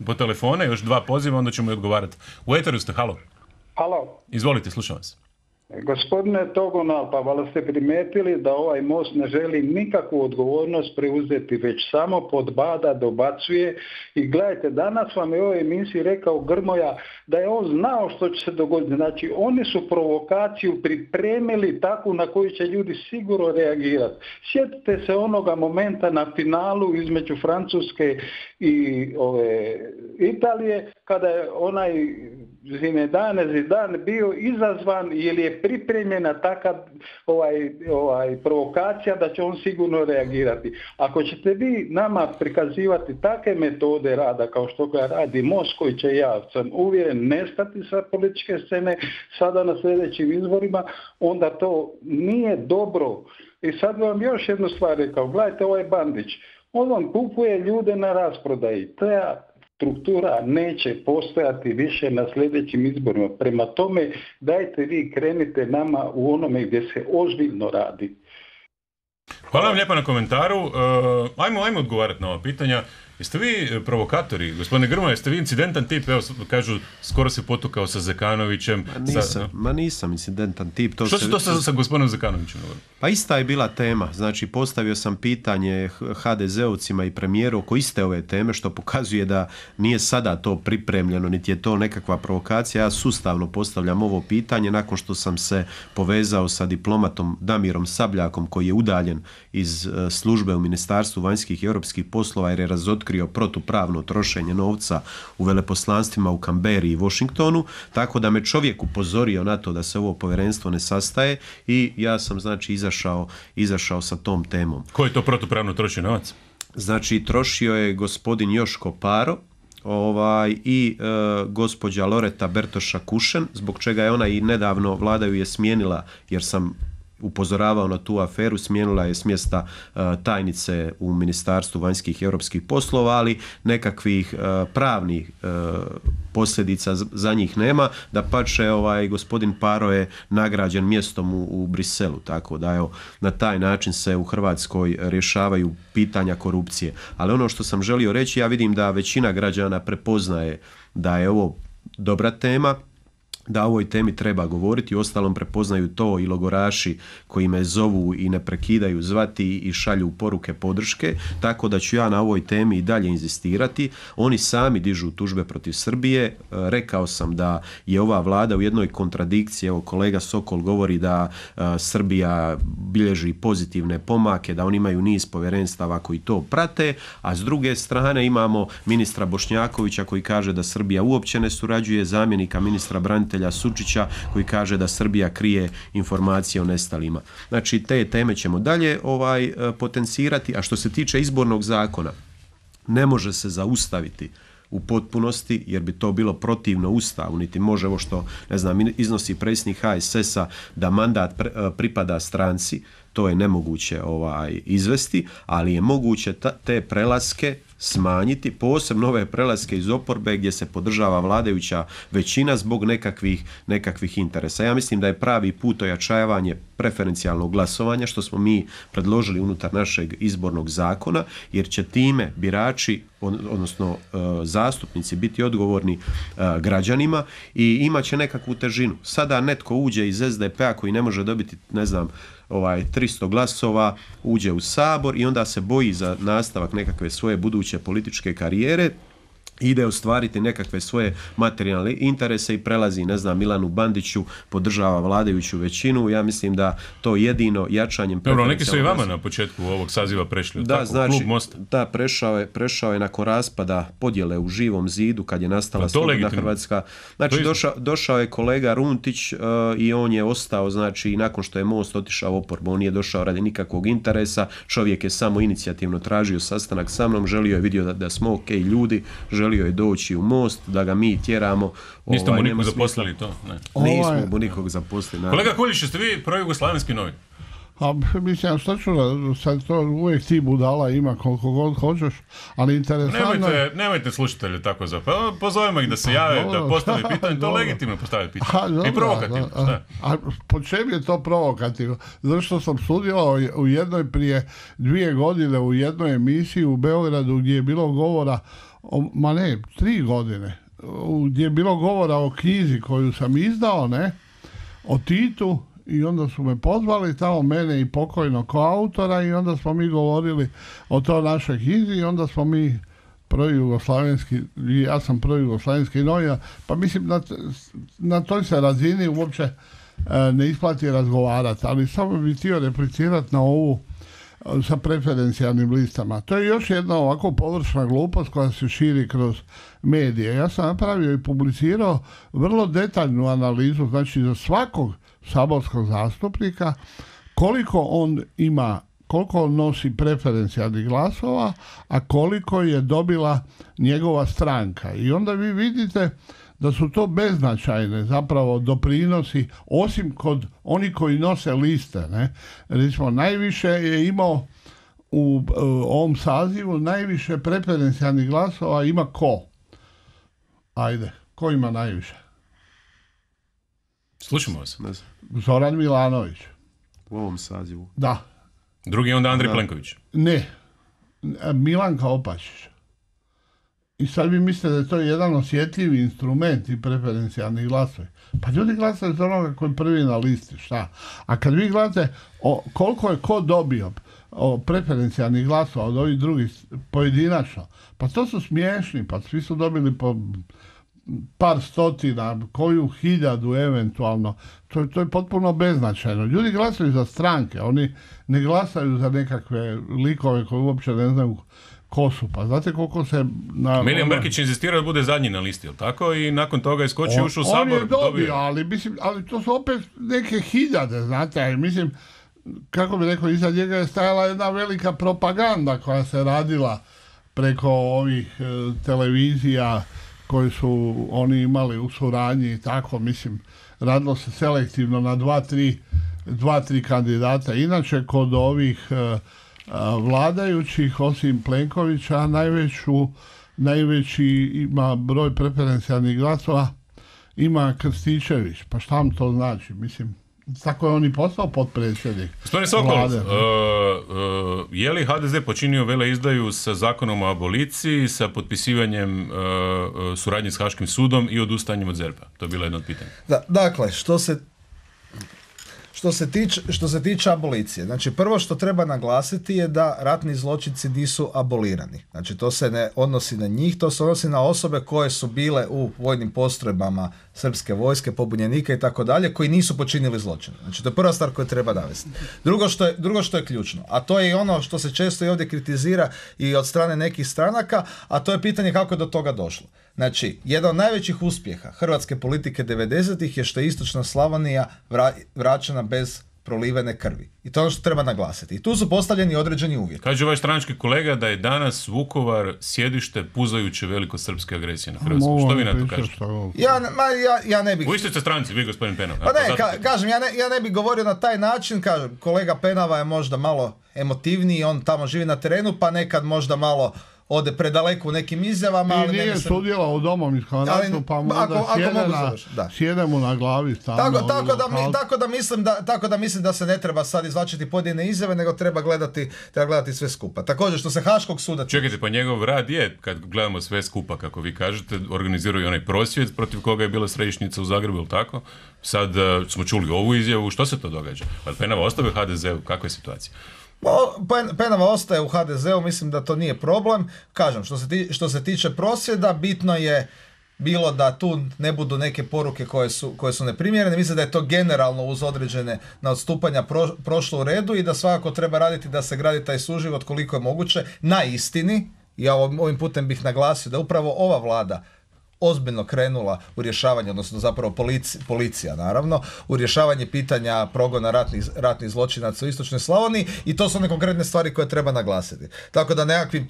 po telefone, još 2 poziva, onda ćemo i odgovarati. U eteru ste, halo. Halo. Izvolite, slušam vas. Gospodine Togonal, pa valjda ste primijetili da ovaj Most ne želi nikakvu odgovornost preuzeti, već samo podbada, dobacuje. I gledajte, danas vam je u ovoj emisiji rekao Grmoja da je on znao što će se dogoditi. Znači, oni su provokaciju pripremili takvu na koju će ljudi sigurno reagirati. Sjetite se onoga momenta na finalu između Francuske i Italije, kada je onaj Zidane bio izazvan jer je pripremljena takav provokacija da će on sigurno reagirati. Ako ćete vi nama prikazivati takve metode rada kao što ga radi Most, koji će, ja sam uvjeren, nestati sa političke scene sada na sljedećim izborima, onda to nije dobro. I sad vam još jednu stvar rekao, gledajte, ovaj Bandić, on vam kupuje ljude na rasprodaji. Struktura neće postojati više na sljedećim izborima. Prema tome, dajte vi krenite nama u onome gdje se ozbiljno radi. Hvala vam lijepa na komentaru. Ajmo odgovarati na ova pitanja. Jeste vi provokatori, gospodine Grmoja, jeste vi incidentan tip? Evo, kažu, skoro se potukao sa Zekanovićem. Nisam incidentan tip. Što se to sa gospodinom Zekanovićem? Pa ista je bila tema. Znači, postavio sam pitanje HDZ-ovcima i premijeru oko iste ove teme, što pokazuje da nije sada to pripremljeno, niti je to nekakva provokacija. Ja sustavno postavljam ovo pitanje nakon što sam se povezao sa diplomatom Damirom Sabljakom, koji je udaljen iz službe u Ministarstvu vanjskih i europskih poslova jer je razotkrio protupravno trošenje novca u veleposlanstvima u Kamberi i Washingtonu, tako da me čovjek upozorio na to da se ovo povjerenstvo ne sastaje i ja sam, znači, izašao sa tom temom. Ko je to protupravno trošio novac? Znači, trošio je gospodin Joško Paro i gospođa Loreta Bertoša Kušen, zbog čega je ona i nedavno, vlada ju je smijenila jer sam upozoravao na tu aferu, smijenila je s mjesta tajnice u Ministarstvu vanjskih i europskih poslova, ali nekakvih pravnih posljedica za njih nema. Dapače, gospodin Paro je nagrađen mjestom u Briselu, tako da evo, na taj način se u Hrvatskoj rješavaju pitanja korupcije. Ali ono što sam želio reći, ja vidim da većina građana prepoznaje da je ovo dobra tema, da o ovoj temi treba govoriti, uostalom prepoznaju to i logoraši koji me zovu i ne prekidaju zvati i šalju poruke podrške, tako da ću ja na ovoj temi i dalje inzistirati. Oni sami dižu tužbe protiv Srbije, rekao sam da je ova vlada u jednoj kontradikciji, evo kolega Sokol govori da Srbija bilježi pozitivne pomake, da oni imaju niz povjerenstava koji to prate, a s druge strane imamo ministra Bošnjakovića koji kaže da Srbija uopće ne surađuje, zamjenika ministra branitelja Sučića koji kaže da Srbija krije informacije o nestalima. Znači te teme ćemo dalje potencirati, a što se tiče izbornog zakona, ne može se zaustaviti u potpunosti jer bi to bilo protivno Ustavu, niti može ovo što, ne znam, iznosi predsjednik HSS-a da mandat pripada stranci, to je nemoguće izvesti, ali je moguće te prelaske smanjiti, posebno ove prelaske iz oporbe gdje se podržava vladajuća većina zbog nekakvih interesa. Ja mislim da je pravi put ojačavanje preferencijalnog glasovanja, što smo mi predložili unutar našeg izbornog zakona, jer će time birači, odnosno zastupnici biti odgovorni građanima i imat će nekakvu težinu. Sada netko uđe iz SDP-a koji ne može dobiti, ne znam, 300 glasova, uđe u Sabor i onda se boji za nastavak nekakve svoje buduće političke karijere, ide ostvariti nekakve svoje materijalne interese i prelazi, ne znam, Milanu Bandiću, podržava vladajuću većinu. Ja mislim da to jedino jačanjem... Dobro, neki su i vama na početku ovog saziva prešli. Da, znači, Klub Mosta. Da, prešao je nakon raspada podjele u Živom zidu kad je nastala Slobodna Hrvatska. Znači, došao je kolega Runtić i on je ostao, znači, nakon što je Most otišao u oporbu, on nije došao radi nikakvog interesa, čovjek je samo inicijativno tražio sastanak sa mnom, želio je vidio da smo ok ljudi, želio je doći u Most, da ga mi tjeramo. Niste mu nikog zaposlili to? Ne. Nismo mu nikog zaposlili. Kolega Kuljić, jeste vi projugoslavenski novin? A mislim, što ću, sad to uvijek ti budala ima koliko god hoćeš, ali interesantno... Nemojte slušatelje tako pozovimo ih da se jave, da postave pitanje, to legitimno postaviti pitanje. I provokativno. A po čem je to provokativno? Zato što sam sudjelovao u jednoj prije 2 godine u jednoj emisiji u Beogradu gdje je bilo govora 3 godine, gdje je bilo govora o knjizi koju sam izdao, o Titu, i onda su me pozvali tamo, mene i pokojnog koautora, i onda smo mi govorili o to našoj knjizi i onda smo mi ja sam projugoslavenski novinar, pa mislim na toj se razini uopće ne isplati razgovarati, ali samo bih htio replicirati na ovu sa preferencijalnim listama. To je još jedna ovako površna glupost koja se širi kroz medije. Ja sam napravio i publicirao vrlo detaljnu analizu, znači za svakog saborskog zastupnika koliko on nosi preferencijalnih glasova, a koliko je dobila njegova stranka. I onda vi vidite da su to beznačajne zapravo doprinosi, osim kod oni koji nose liste. Recimo, najviše je imao u ovom sazivu, najviše preferencijalnih glasova ima ko? Ajde, ko ima najviše? Slušamo vas. Zoran Milanović. U ovom sazivu? Da. Drugi je onda Andrej Plenković? Ne. Milanka Opačić. I sad vi mislite da je to jedan osjetljivi instrument i preferencijalni glasovi. Pa ljudi glasaju za onoga koji je prvi na listi, šta? A kad vi gledate koliko je ko dobio preferencijalnih glasova od ovih drugih pojedinačno, pa to su smiješni, pa svi su dobili po par stotina, koju 1000 eventualno. To je potpuno beznačajno. Ljudi glasaju za stranke, oni ne glasaju za nekakve likove koji uopće ne znaju ko su. Pa znate koliko se... Milijan Brkić insistira da bude zadnji na listi, jel tako? I nakon toga je skočio, ušao u Sabor. On je dobio, ali to su opet neke 1000, znate, mislim, kako bi rekao, iza njega je stajala jedna velika propaganda koja se radila preko ovih televizija koje su oni imali u suradnji i tako, mislim, radilo se selektivno na 2-3 kandidata. Inače, kod ovih vladajućih, osim Plenkovića, najveći ima broj preferencijalnih glasova ima Krstičević. Pa šta vam to znači? Mislim, tako je on i postao potpredsjednik. Gospodine Sokol, je li HDZ počinio veleizdaju sa zakonom o aboliciji, sa potpisivanjem suradnje s Haškim sudom i odustajanjem od ZERP-a? To je bilo jedno od pitanja. Dakle, što se tiče abolicije, znači prvo što treba naglasiti je da ratni zločinci nisu abolirani. Znači to se ne odnosi na njih, to se odnosi na osobe koje su bile u vojnim postrojbama srpske vojske, pobunjenika i tako dalje, koji nisu počinili zločine. Znači to je prva stvar koju treba navesti. Drugo što je ključno, a to je i ono što se često i ovdje kritizira i od strane nekih stranaka, a to je pitanje kako je do toga došlo. Znači, jedan od najvećih uspjeha hrvatske politike 90-ih je što je istočna Slavonija vraćena bez prolivene krvi. I to je ono što treba naglasiti. I tu su postavljeni određeni uvjeti. Kaže vaš stranački kolega da je danas Vukovar sjedište puzajuće velikosrpske agresije na Hrvatsku. Što vi na to kažete? Ja ne bih... U istoj ste stranci, vi gospodin Penava. Pa ne, kažem, ja ne bih govorio na taj način, kažem, kolega Penava je možda malo emotivniji, on tamo živi na terenu, pa nekad možda malo ode predaleko u nekim izjavama. I nije sudjelao u Domovinskom ratu, pa mu da sjede mu na glavi stalno. Tako da mislim da se ne treba sad izvlačiti pojedine izjave, nego treba gledati sve skupa. Također, što se Haškog suda... Čekajte, pa njegov rad je, kad gledamo sve skupa, kako vi kažete, organiziraju onaj prosvjed protiv koga je bila središnjica u Zagrebu, ili tako? Sad smo čuli ovu izjavu, što se to događa? Pa Penava ostavio HDZ-u, kakva je situacija? Penava ostaje u HDZ-u, mislim da to nije problem. Kažem, što se tiče prosvjeda, bitno je bilo da tu ne budu neke poruke koje su neprimjerene. Mislim da je to generalno uz određene na odstupanja prošlo u redu i da svakako treba raditi da se gradi taj suživot koliko je moguće na istini. Ja ovim putem bih naglasio da upravo ova vlada ozbiljno krenula u rješavanje, odnosno zapravo policija naravno, u rješavanje pitanja progona ratnih zločinaca u istočnoj Slavoniji i to su one konkretne stvari koje treba naglasiti. Tako da nekakvim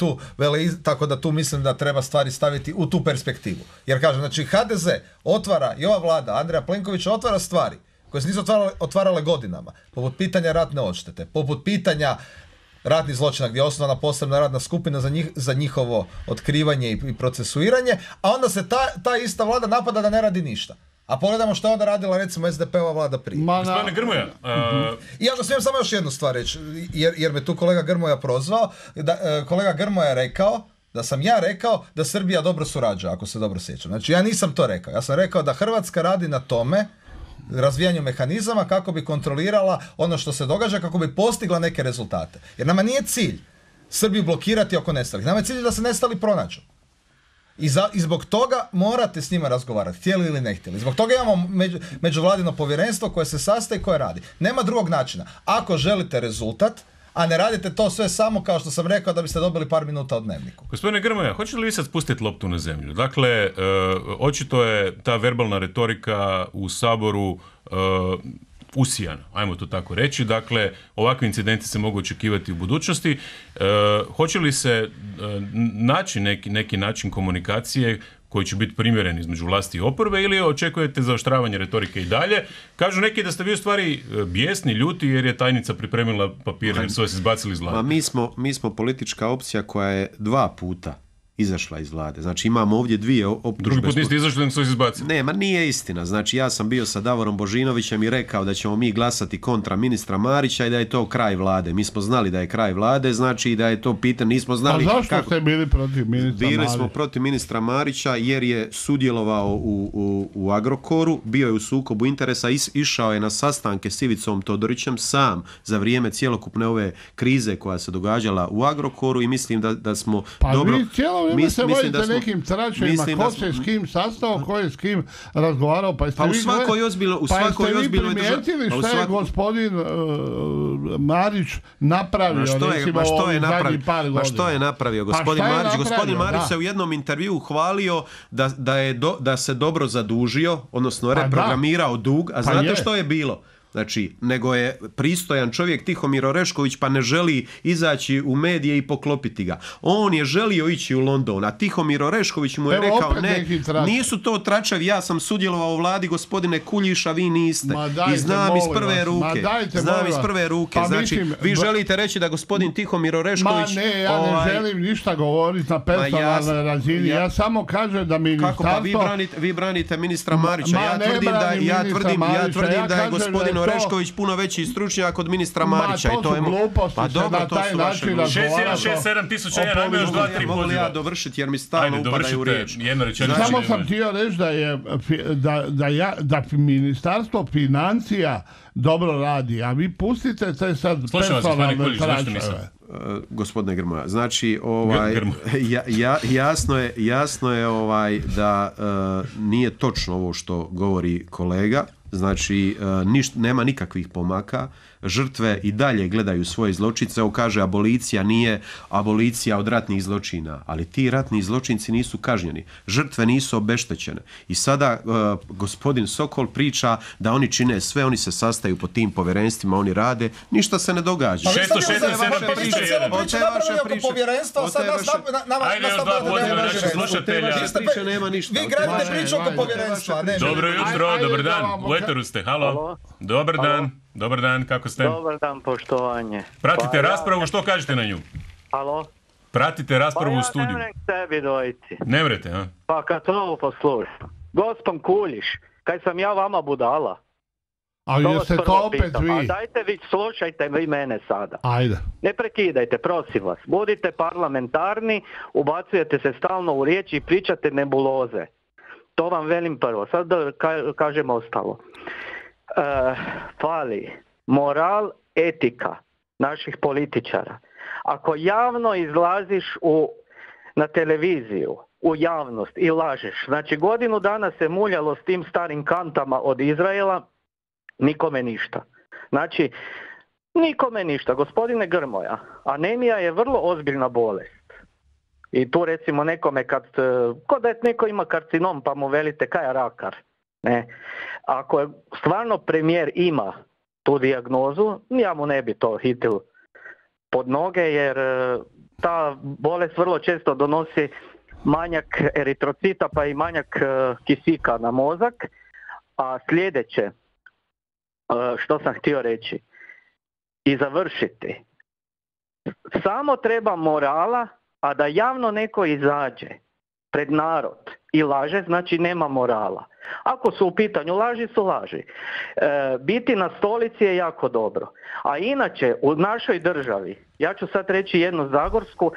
tako da tu mislim da treba stvari staviti u tu perspektivu. Jer kažem, znači HDZ otvara i ova vlada Andreja Plenkovića otvara stvari koje se nisu otvarale godinama, poput pitanja ratne odštete, poput pitanja ratnih zločina gdje je osnovana posebna radna skupina za njihovo otkrivanje i procesuiranje, a onda se ta ista vlada napada da ne radi ništa. A pogledamo što je onda radila recimo SDP-ova vlada prije. Gospodine Grmoja. I ja smijem samo još jednu stvar reći, jer me tu kolega Grmoja prozvao. Kolega Grmoja je rekao da sam ja rekao da Srbija dobro surađuje, ako se dobro sjećam. Znači ja nisam to rekao. Ja sam rekao da Hrvatska radi na tome, razvijanju mehanizama kako bi kontrolirala ono što se događa, kako bi postigla neke rezultate. Jer nama nije cilj Srbiju blokirati oko nestalih. Nama je cilj da se nestali pronađu. I zbog toga morate s njima razgovarati, htjeli ili ne htjeli. Zbog toga imamo međuvladino povjerenstvo koje se sastaje i koje radi. Nema drugog načina. Ako želite rezultat, a ne radite to sve samo, kao što sam rekao, da biste dobili par minuta od Dnevniku. Gospodine Grmoja, hoćete li vi sad spustiti loptu na zemlju? Dakle, očito je ta verbalna retorika u Saboru usijana, ajmo to tako reći. Dakle, ovakvi incidenti se mogu očekivati u budućnosti. Hoće li se naći neki način komunikacije koji će biti primjeren između vlasti i oporbe ili očekujete zaoštravanje retorike i dalje? Kažu neki da ste vi u stvari bijesni, ljuti jer je tajnica pripremila papir jer su vas izbacili iz vlade. Mi smo politička opcija koja je 2 puta izašla iz vlade. Znači imamo ovdje 2 optužbe. Drugi put niste izašli, nego su izbacili. Ne, nije istina. Znači ja sam bio sa Davorom Božinovićem i rekao da ćemo mi glasati kontra ministra Marića i da je to kraj vlade. Mi smo znali da je kraj vlade, znači da je to pitanje, nismo znali... A zašto ste bili protiv ministra Marića? Bili smo protiv ministra Marića jer je sudjelovao u Agrokoru, bio je u sukobu interesa, išao je na sastanke s Ivicom Todorićem sam za vrijeme cjelokupne ove krize koja se događala u Agrokoru i mislim da smo dobro... Vi se vodite nekim tračevima, ko se s kim sastao, ko je s kim razgovarao, pa jeste vi primijetili što je gospodin Marić napravio, recimo ovih zadnjih par godina? Što je napravio gospodin Marić? Gospodin Marić se u jednom intervjuu hvalio da se dobro zadužio, odnosno reprogramirao dug, a znate što je bilo? Znači, nego je pristojan čovjek Tihomir Orešković pa ne želi izaći u medije i poklopiti ga. On je želio ići u London, a Tihomir Orešković mu je rekao ne, nisu to tračevi, ja sam sudjelovao u vladi gospodine Kuljiša, vi niste. I znam iz prve ruke. Pa znači, vi želite reći da gospodin Tihomir Orešković... ja ne želim ništa govoriti na personalnoj razini. Ja samo kažem da ministarstvo... Kako pa vi branite ministra Marića. Ja tvrdim da je gospodin Vesno Orešković puno veći stručnjak od ministra Marića. Ma, to su gluposti, pa dobro, na taj način razgovarati. 6-1, 6-7 ajme još 2-3 poziva. Mogu li ja dovršiti jer mi stalno upadaju u riječ. Samo sam htio reći da Ministarstvo financija dobro radi, a vi pustite te sad personalne tračeve. Gospodine Grmoja, znači jasno je da nije točno ovo što govori kolega. Znači, nema nikakvih pomaka, žrtve i dalje gledaju svoje zločince. Ovo kaže, abolicija nije abolicija od ratnih zločina, ali ti ratni zločinci nisu kažnjeni, žrtve nisu obeštećene. I sada gospodin Sokol priča da oni čine sve, oni se sastaju po tim povjerenstvima, oni rade, ništa se ne događa. 667 Ajde još 2 poziva naših slušatelja. Vi gradite priču oko povjerenstva. Dobro jutro, dobar dan. U eteru ste, halo. Dobar dan, kako ste? Dobar dan, poštovanje. Pratite raspravu, što kažete na nju? Halo? Pratite raspravu u studiju. Pa ja ne vrem k tebi dojti. Ne vrete, a? Pa kad ovo poslušam. Gospon Kuljiš, kaj sam ja vama budala? A jeste to opet vi? A dajte vi, slušajte vi mene sada. Ajde. Ne prekidajte, prosim vas. Budite parlamentarni, ubacujete se stalno u riječi i pričate nebuloze. To vam velim prvo. Sad da kažem ostalo. Fali moral, etika naših političara. Ako javno izlaziš na televiziju, u javnost i lažeš, znači godinu dana se muljalo s tim starim kantama od Izraela, nikome ništa. Znači, nikome ništa. Gospodine Grmoja, anemija je vrlo ozbiljna bolest. I tu recimo nekome kod da neko ima karcinom pa mu velite kaj je rakar. Ne. Ako je stvarno premijer ima tu dijagnozu, ja mu ne bi to hitil pod noge jer ta bolest vrlo često donosi manjak eritrocita pa i manjak kisika na mozak. A sljedeće što sam htio reći i završiti, samo treba morala, a da javno neko izađe pred narod i laže, znači nema morala. Ako su u pitanju laži, su laži. Biti na stolici je jako dobro. A inače, u našoj državi, ja ću sad reći jednu zagorsku,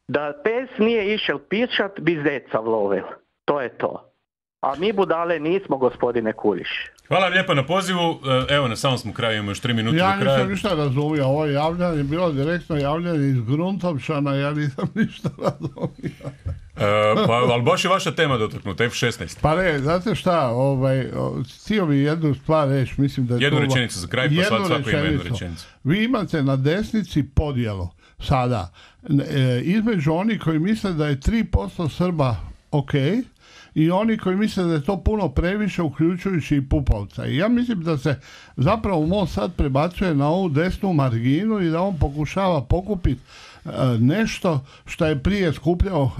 da pes nije išel pišat, bi zeca vlovil. To je to. A mi budale nismo, gospodine Kuljiš. Hvala vam lijepo na pozivu. Evo, na samom smo kraju, imamo još 3 minute do kraja. Ja nisam ništa razumio. Ovo javljanje je bilo direktno javljanje iz Gruntovšana, ja nisam ništa razumio. Ali baš je vaša tema dotaknuta, F-16. Pa ne, znate šta, htio bi jednu stvar reći, mislim da je jednu rečenicu za kraj, pa svako ima jednu rečenicu. Vi imate na desnici podjelu sada, između onih koji misle da je 3% Srba ok, i oni koji misle da je to puno previše, uključujući i Pupovca. I ja mislim da se zapravo MOST sad prebacuje na ovu desnu marginu i da on pokušava pokupiti nešto što je prije skupljao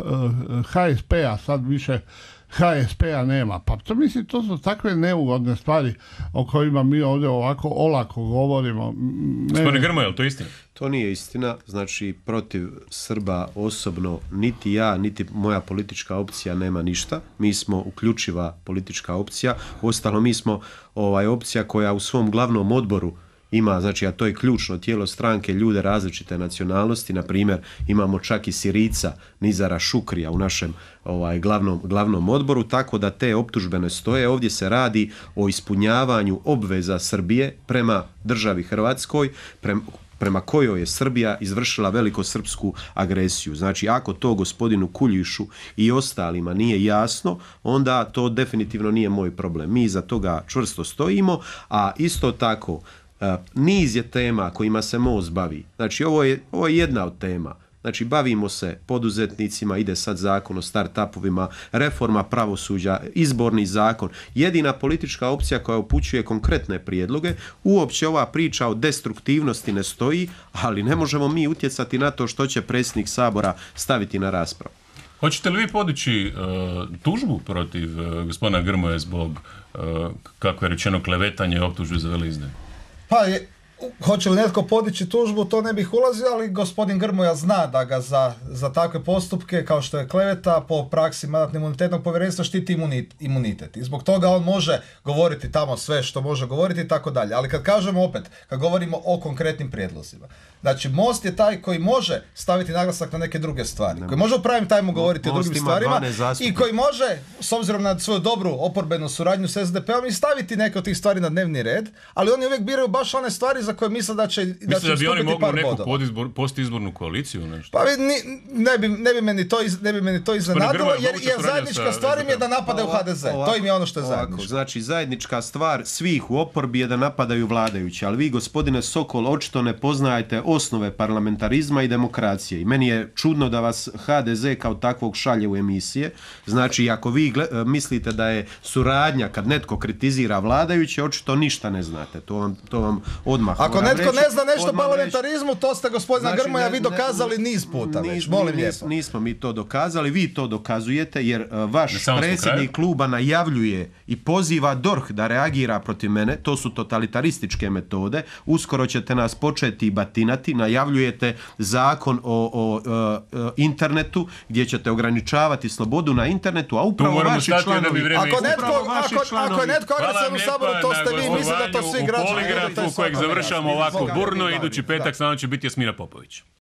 HSP-a, sad više HSP-a nema. Pa to mislim, to su takve neugodne stvari o kojima mi ovdje ovako olako govorimo. Gospodine Grmoja, je li to istina? To nije istina, znači protiv Srba osobno niti ja, niti moja politička opcija nema ništa. Mi smo uključiva politička opcija, uostalom mi smo opcija koja u svom glavnom odboru ima, znači, a to je ključno tijelo stranke, ljude različite nacionalnosti, na primjer imamo čak i Sirica Nizara Šukrija u našem glavnom odboru, tako da te optužbe ne stoje. Ovdje se radi o ispunjavanju obveza Srbije prema državi Hrvatskoj, prema kojoj je Srbija izvršila velikosrpsku agresiju. Znači, ako to gospodinu Kuljišu i ostalima nije jasno, onda to definitivno nije moj problem. Mi iza toga čvrsto stojimo, a isto tako niz je tema kojima se MOST bavi. Znači, ovo je jedna od tema. Znači, bavimo se poduzetnicima, ide sad zakon o start-upovima, reforma pravosuđa, izborni zakon. Jedina politička opcija koja upućuje konkretne prijedloge, uopće ova priča o destruktivnosti ne stoji, ali ne možemo mi utjecati na to što će predsjednik Sabora staviti na raspravu. Hoćete li vi podići tužbu protiv gospodina Grmoje zbog, kako je rečeno, klevetanja i optužbe za veleizdaju? Pa Hoće li netko podići tužbu, to ne bih ulazio, ali gospodin Grmoja zna da ga za takve postupke, kao što je kleveta, po praksi Mandatno-imunitetnog povjerenstva štiti imunitet. I zbog toga on može govoriti tamo sve što može govoriti i tako dalje. Ali kad kažemo opet, kad govorimo o konkretnim prijedlozima, znači Most je taj koji može staviti naglasak na neke druge stvari, koji može u prime time govoriti o drugim stvarima i koji može, s obzirom na svoju dobru oporbenu suradnju s SDP-om, i staviti neke od tih stvari na dnevni red, ali oni uvijek biraju baš one stvari za koje misle da će Mislim da bi oni mogli neku postizbornu koaliciju nešto? Pa ne bi meni to iznenadilo, jer zajednička stvar im je da napadaju HDZ. To im je ono što je zajedničko. Znači, zajednička stvar svih u oporbi je da napadaju vladajući, ali vi, gospodine Sokol, očito ne poznajete osnove parlamentarizma i demokracije. I meni je čudno da vas HDZ kao takvog šalje u emisije. Znači, ako vi mislite da je suradnja kad netko kritizira vladajuće, očito ništa ne znate. To vam odmah ako netko ne zna nešto o parlamentarizmu, to ste, gospodina Grmoja, vi dokazali niz puta već, molim lijepo. Nismo mi to dokazali, vi to dokazujete, jer vaš predsjednik kluba najavljuje i poziva DORH da reagira protiv mene. To su totalitarističke metode. Uskoro ćete nas početi batinati, najavljujete zakon o internetu, gdje ćete ograničavati slobodu na internetu, a upravo vaši članovi... Ako je netko agresivan u Saboru, to ste vi, mislim da to svi građani... U kojeg završavamo ovako burno, idući petak s nama će biti Jasmina Popović.